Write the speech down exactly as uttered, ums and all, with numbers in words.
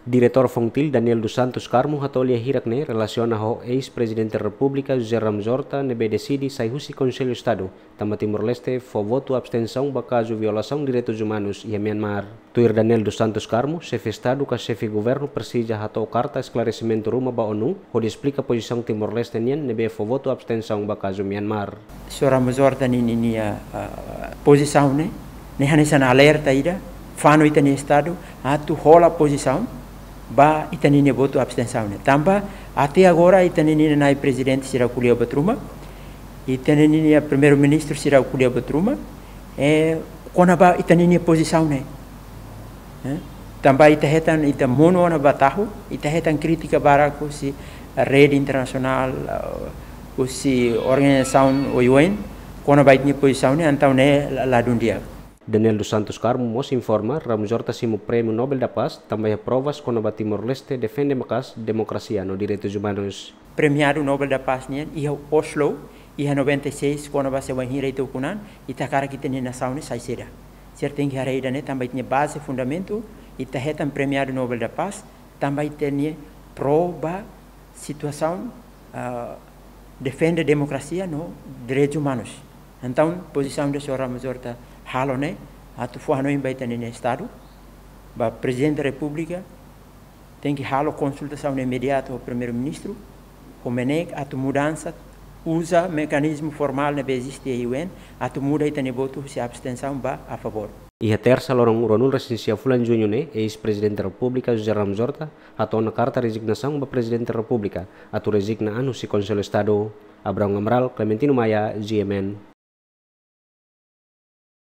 Diretór Fontil, Daniel dos Santos Carmo, hato'o lia hirak ne'e relasiona ho eis-Prezidente Repúblika José Ramos Horta ne'ebé deside sai husi Konsellu Estadu, tanba Timor-Leste fó votu abstensaun ba kazu violasaun direitus umanus iha Myanmar. Tuir Daniel dos Santos Carmo, xefe Estadu ka xefe Governu presiza hato'o karta esklaresimentu ruma ba ONU, hodi esplika pozisaun Timor-Leste nian ne'ebé fó votu abstensaun ba kazu Myanmar. Señór Ramos Horta ninia, ah, pozisaun ne'e, ne'e hanesan alerta ida, fanu ita-nia Estadu atu hola pozisaun ba ita ninia votu abstensaun ne'e. Tanba até agora ita ninia nai prezidente sira ko'alia buat ruma, ita ninia primeiru-ministru sira ko'alia buat ruma, eh, kona-ba ita ninia pozisaun ne'e. Eh, tanba ita hetan, ita monu ona ba tahu, ita hetan krítika barak husi rede internasionál, eh, husi organizasaun U N, kona-ba ita-nia pozisaun ne'e, entaun ne'e la, ladún di'ak. Daniel dos Santos Carmo mós informa, Ramos Horta simu Prémiu Nobel da Paz, tanba iha provas kona-ba Timor-Leste defende maka'as demokrasia no direitus umanus. Premiadu Nobel da Paz nian iha Oslo, iha noventa e seis, kona-ba se wainhira ita ukun an, ita hakarak ita-nia nasaun ne'e sai saida. Sira tenke haree ida-ne'e tanba ita-nia baze, fundamentu, ita hetan Premiadu Nobel da Paz, tanba ita-nia pró ba situasaun, ah, defende demokrasia no direitus umanus. Entaun, pozisaun ida señór Ramos Horta halo ne'e, atu fó hanoin ba ita ninia Estadu, ba Prezidente Repúblika, tenke halo konsultasaun imediatu ho Primeiru-Ministru, ho MNEK, atu mudansa, uza mekanizmu formál ne'ebé eziste iha U N, atu muda ita-nia votu husi abstensaun ba a favór. Iha Tersa, loron ruanulu-resin-sia fulan Juñu ne'e, eis-Prezidente Repúblika José Ramos Horta hato'o ona karta rezignasaun ba Prezidente Repúblika, atu rezigna an husi Konsellu Estadu. Abraão Amaral, Clementino Maia, G M N.